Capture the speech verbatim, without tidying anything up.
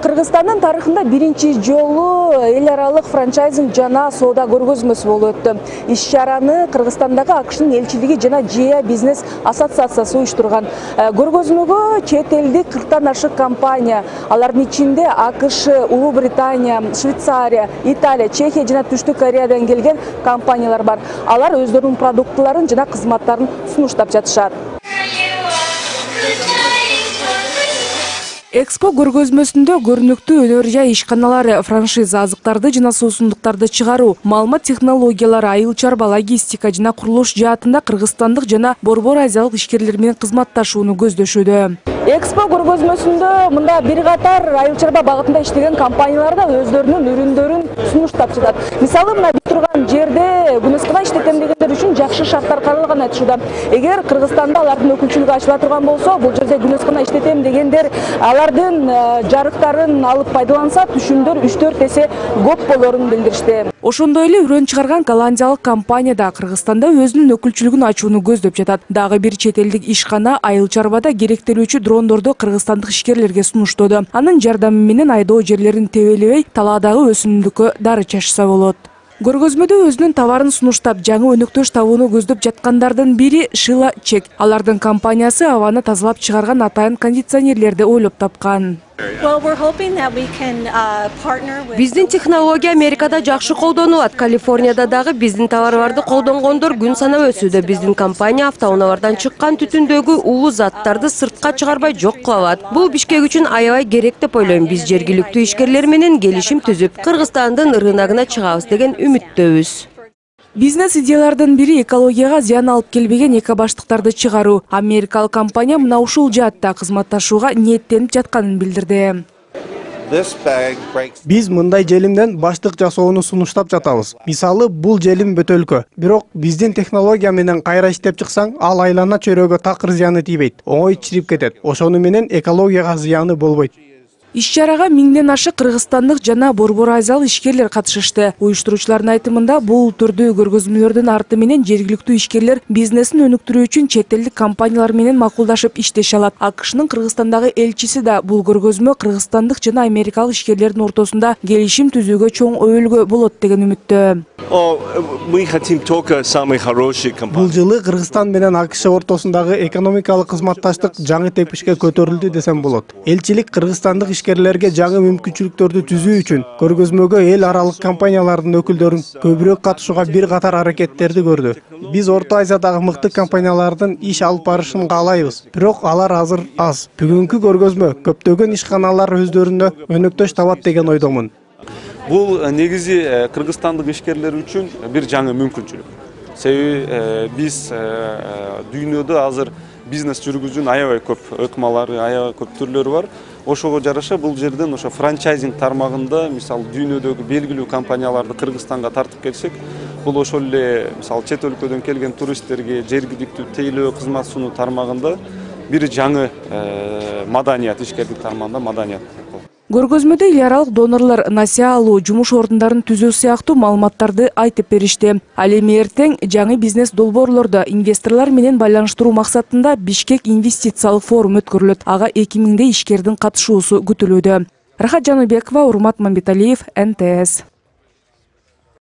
Кыргызстандын тарыхында биринчи жолу эл аралык франчайзинг жана соода көргөзмөсү болуп өттү. Иш-чараны Кыргызстандагы АКШнын элчилиги жана ЖИА бизнес ассоциациясы уюштурган. Көргөзмөгө чет элдик кырктан ашык компания, алардын ичинде АКШ, Улуу Британия, Швейцария, Италия, Чехия жана Түштүк Кореядан келген компаниялар бар. Алар өздөрүнүн продуктларын жана кызматтарын сунуштап жатышат. Экспо көргөзмөсүндө көрүнүктүү өнөр жай ишканалары, франшиза, азыктарды жана суусундуктарды чыгаруу, маалымат технологиялары, айыл чарба, логистика жана курулуш жаатында кыргызстандык жана борбор азиялык ишкерлер менен кызматташууну көздөшүүдө. Экспо көргөзмөсүндө мында бир катар айыл чарба багытында иштеген компаниялар да өздөрүнүн үрүндөрүн сунуштап жатат. Мисалы, мына бит турган жерде күнөскөна иштетем дегендер үчүн жакшы шарттар каралганын айтышууда. Эгер Кыргызстанда алардын өкүлчүлүгү ачыла турган болсо, бул жерде күнөскөна иштетем дегендер алардын жарыктарын алып пайдаланса, түшүмдөр үч төрт эсе көп болорун билдиришти. Ошондой эле үрөн чыгарган голландиялык компания да Кыргызстанда өзүнүн өкүлчүлүгүн ачууну көздөп жатат. Дагы бир чет элдик ишкана айыл чарбада керектелүүчү дрондорду кыргызстандык ишкерлерге сунуштоду. Анын жардамы менен айдоо жерлерин тебелебей, талаадагы өсүмдүккө дары чачса болот. Көргөзмөдө өзүнүн товарын сунуштап, жаңы өнөктөш табууну көздөп жаткандардын бири Шила Чек. Алардын компаниясы абаны тазалап чыгарган атайын кондиционерлерди ойлоп тапкан. Биздин технология Америкада жакшы колдонулат. Калифорнияда дагы биздин товарларды колдонгондор күн санап өсүүдө. Биздин компания автоунаалардан чыккан түтүндөгү улуу заттарды сыртка чыгарбай жок кыла алат. Бул Бишкек үчүн аябай керек деп ойлойм. Биз жергиликтүү ишкерлер менен келишим түзүп, Кыргызстандын рыногуна чыгабыз деген үмүттөбүз. Бизнес идеялардын бири экологияга зыян алып келбеген эко баштыктарды чыгаруу. Америкалык компания мына ушул жаатта кызматташууга ниеттенип жатканын билдирди. Биз мындай желимден баштык жасоону сунуштап жатабыз. Мисалы, бул желим бөтөлкө. Бирок биздин технология менен кайра иштеп чыксаң, ал айлана чөйрөгө такыр зыяны тийбейт. Оңой чирип кетет. Ошону менен экологияга зыяны болбойт. Иш-чарага миңден ашык кыргызстандык жана борбор азиялык ишкерлер катышышты. Уюштуруучулардын айтымында, бул түрдүү көргөзмөлөрдүн арты менен жергиликтүү ишкерлер бизнесин өнүктүрүү үчүн чет элдик компаниялар менен макулдашып иштеше алат. АКШнын Кыргызстандагы элчиси да бул көргөзмө кыргызстандык жана америкалык ишкерлердин ортосунда келишим түзүүгө чоң өбөлгө болот деген үмүттө. Бул жылы Кыргызстан менен АКШ ортосундагы экономикалык кызматташтык жаңы тепишке көтөрүлдү десем болот. Элчилик кыргызстандык ишкерлерге жаңы мүмкүнчүлүктөрдү түзүү үчүн көргөзмөгө эл аралык компаниялардын өкүлдөрүн көбүрөөк катышууга бир катар аракеттерди көрдү. Биз Орто Азиядагы мыкты компаниялардын иш алып барышын каалайбыз, бирок алар азыр аз. Бүгүнкү көргөзмө көптөгөн ишканалар өздөрүнө өнөктөш табат деген ойдомун. Бул негизи кыргызстандык ишкерлер үчүн бир жаңы мүмкүнчүлүк. Себеби биз дүйнөдө азыр бизнес жүргүзүүнүн аябай көп ыкмалары, аябай көп түрлөрү бар. Ошого жараша бул жерден ошо франчайзинг тармагында, мисалы, дүйнөдөгү белгилүү компанияларды Кыргызстанга тартып келсек, бул ошол эле, мисалы, чет өлкөдөн келген туристтерге жергиликтүү тейлөө кызмат сунуу тармагында бир жаңы маданият, ишкерлик тармагында маданият. Көргөзмөдө эл аралык донорлор насыя алуу, жумуш ордундарын түзүү сыяктуу маалыматтарды айтып беришти. Ал эми эртең жаңы бизнес долбоорлорду инвесторлор менен байланыштыруу максатында Бишкек инвестициялык форум өткөрүлөт. Ага эки миңдей ишкердин катышуусу күтүлүүдө. Рахат Жаныбекова, Урмат Мамбеталиев, эн тэ эс.